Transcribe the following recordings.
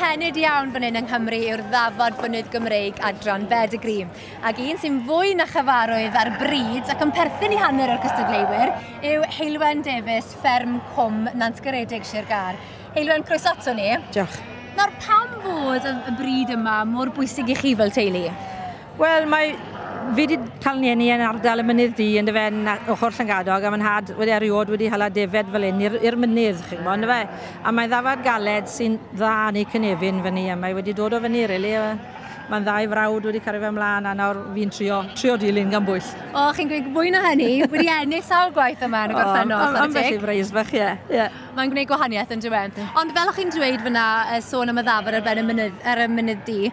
Cynhenid iawn fan hyn yng Nghymru yw'r ddafad fynydd Gymreig adran Bedigri. Ac un sy'n fwy na chyfarwydd ar bryd ac yn perthyn i hanner o'r cystadleuwyr yw Heulwen Davies, fferm Cwm Nantgaredig, Sir Gâr. Heulwen, croeso ato ni. Diolch. Nawr, pam fod y bryd yma mor bwysig i chi fel teulu? Wel, mae fi wedi cael nieni yn ardal y Mynydd Du yn dyfe, yn ochr Llangadog, a mae'n nhad wedi eriod wedi hala defed fel hyn i'r mynydd, chi'n gwybod, yn dyfe? A mae'n ddafad galed sy'n dda yn ei cynefin fyny, a mae wedi dod o fyny, really. Mae'n ddau frawd wedi cario fe ymlaen, a nawr fi'n trio dilyn gan bwyll. O, chi'n gweud mwy na hynny, wedi ennill sawl gwaith yma yn y gorffennol. Ambell i freis fach, ie. Mae'n gwneud gwahaniaeth yn dywe. Ond fel o'ch chi'n dweud fyna, sôn am y ddafad ar ben y mynydd, ar y Mynydd Du,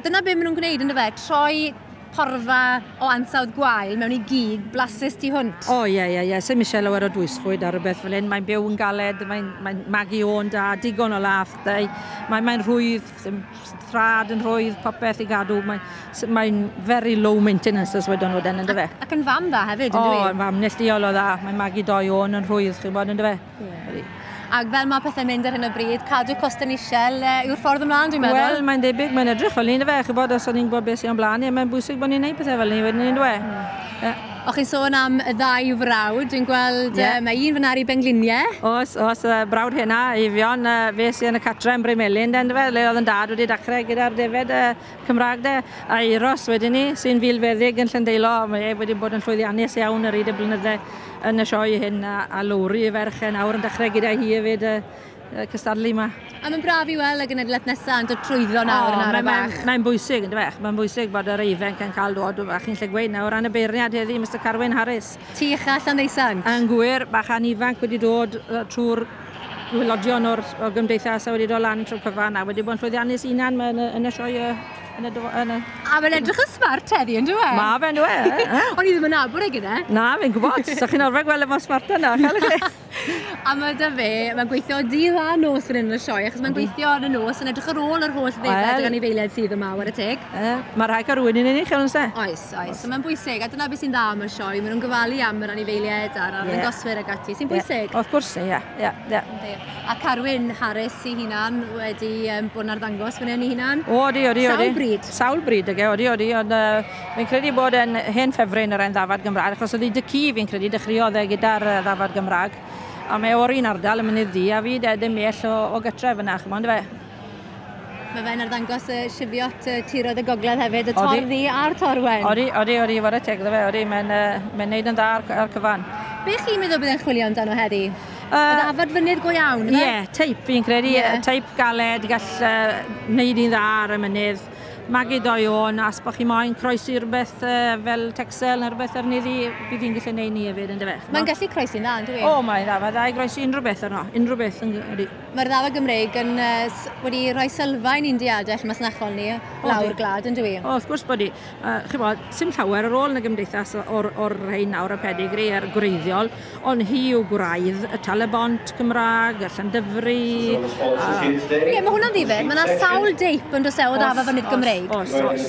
dyna be maen nhw'n gwneud yn dyfe, troi porfa o ansawdd gwael mewn i gig blasus tu hwnt. O, ie. Sdim eisiau lawer o dwysfwyd ar rhywbeth fel hyn. Mae'n byw yn galed, mae'n magu o'n da, digon o lath. Mae'n rhwydd, trad yn rhwydd, popeth i gadw. Mae'n very low maintenance, as wedon nhw, yn dyfe. Ac yn fam dda hefyd, yn dwi? O, yn fam neilltuol o dda. Mae'n magu doi o'n yn rhwydd, chi'n bod, yn dyfe. Yeah. Ac fel mae pethau'n mynd ar hyn o bryd, cadw costau'n isel yw'r ffordd ymlaen, dwi'n meddwl. Wel, mae'n debyg, mae'n edrych fel ni, fe, chi'n bod, os o'n ni'n gwybod beth sy'n o'n blaen ni, mae'n bwysig bod ni'n neud pethau fel ni wedyn ni'n dwe. O, chi'n sôn am y ddau frawd, dwi'n gweld mae un fyna ar ei bengliniau. Oes, oes, brawd hynna, Eifion, fe sy'n yn y catre yn Bryn den, fe, le oedd yn dad wedi dechrau gyda'r defed Cymraeg de, a Euros wedyn ni, sy'n filfeddyg yn Llandeilo, mae e wedi bod yn llwyddiannus iawn yr hyd y blynydde yn y sioe hyn, a Lowri y ferch e nawr yn dechrau gyda hi hefyd cystadlu yma. A mae'n braf i weld y genedlaeth nesaf yn dod trwyddo nawr yn ara bach. Mae'n bwysig, yn dyfe? Mae'n bwysig bod yr ifanc yn cael dod, a chi'n lle gweud nawr, ran y beirniad heddi, Mr Carwyn Harris. Ti ucha Llanddeusant. Yn gwir, bachan ifanc wedi dod trwy'r gwylodion o'r gymdeithas a wedi dod lan trwy'r cyfan a wedi bod yn llwyddiannus unan yn y sioe. A mae'n edrych yn smart heddi, yn dywe? Ma fe'n dywe. O'n i ddim yn nabod e gyda. Na, fi'n gwybod. So chi'n arfer gweld e mor smart yna, chael chi? A mae da fe, mae'n gweithio dydd a nos fan hyn yn y sioe, achos mae'n gweithio yn y nos yn edrych ar ôl yr holl ddefed ag anifeiliaid sydd yma, ware teg. Mae rhaid cael rhywun yn unig, chi'n se? Oes, oes. So mae'n bwysig, a dyna beth sy'n dda am y sioe, maen nhw'n gofalu am yr anifeiliaid a'r arddangoswyr ag ati, sy'n bwysig. Wrth gwrs, ie. A Carwyn Harris ei hunan wedi bod yn arddangos fan hyn ei hunan. Odi, odi, odi. Sawl bryd. Sawl bryd, odi, odi, ond fi'n credu bod yn hen ffefryn yr ein ddafad Gymraeg, achos oedd ei dy-cu fi'n credu dechreuodd e gyda'r ddafad Gymraeg. A mae o'r un ardal yn Mynydd Du, a fi ddim bell o gytref yna, chymod, fe? Mae fe'n arddangos y Cheviot tiroedd y gogledd hefyd, y torddu a'r torwen. Odi, odi, odi, ware teg iddo fe, odi, mae'n neud yn dda ar cyfan. Be chi'n meddwl bydd e'n chwilio amdano heddi? Y ddafad fynydd go iawn, ife? Ie, teip fi'n credu, teip galed, gall wneud un dda ar y mynydd. Magu doi o'n, as bod chi moyn croesi rhywbeth fel Texel neu rhywbeth arni ddi, bydd hi'n gallu neud ni hefyd, yn dyfe? Mae'n gallu croesi'n dda, yn dyw? O, mae'n dda, mae'n dda i groesi unrhyw beth arno, unrhyw beth ydi. Mae'r ddafad Gymreig yn wedi rhoi sylfaen i'n diadell masnachol ni lawr gwlad, yn dyw? O, wrth gwrs bod hi. Chi'n bod, sim llawer ar ôl yn y gymdeithas o'r rhain nawr y pedigri a'r gwreiddiol, ond hi yw gwraidd y Talybont Cymraeg, y Llandyfri. Ie, mae hwnna'n ddifyr. Mae yna sawl deip yn does e o ddafad fynydd Gymreig. Oes, oes.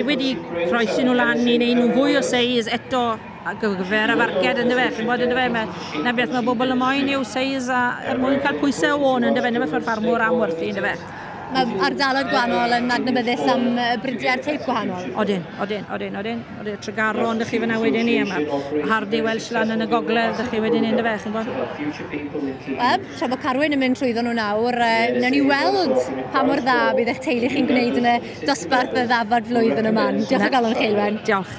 Wedi croesi nhw lan, ni'n neud nhw fwy o seis eto ar gyfer y farced, yn dyfe. Chi'n bod, yn dyfe, na beth mae bobl yn moyn yw seis a er mwyn cael pwysau o ôn, yn dyfe, na beth mae'r ffarmwr am werthu, yn dyfe. Mae ardaloedd gwahanol yn adnabyddus am bridiau'r teip gwahanol. Odyn, odyn, odyn, odyn. Odyn, Tregaron, dych chi fyna wedyn ni, a mae Hardy Welsh lan yn y gogledd, dych chi wedyn ni, yn dyfe, chi'n bod? Wel, tra bod Carwyn yn mynd trwyddo nhw nawr, wnawn ni weld pa mor dda bydd eich teulu chi'n gwneud yn y dosbarth y ddafad flwyddyn yma. Diolch o galon chi, Heulwen. Diolch.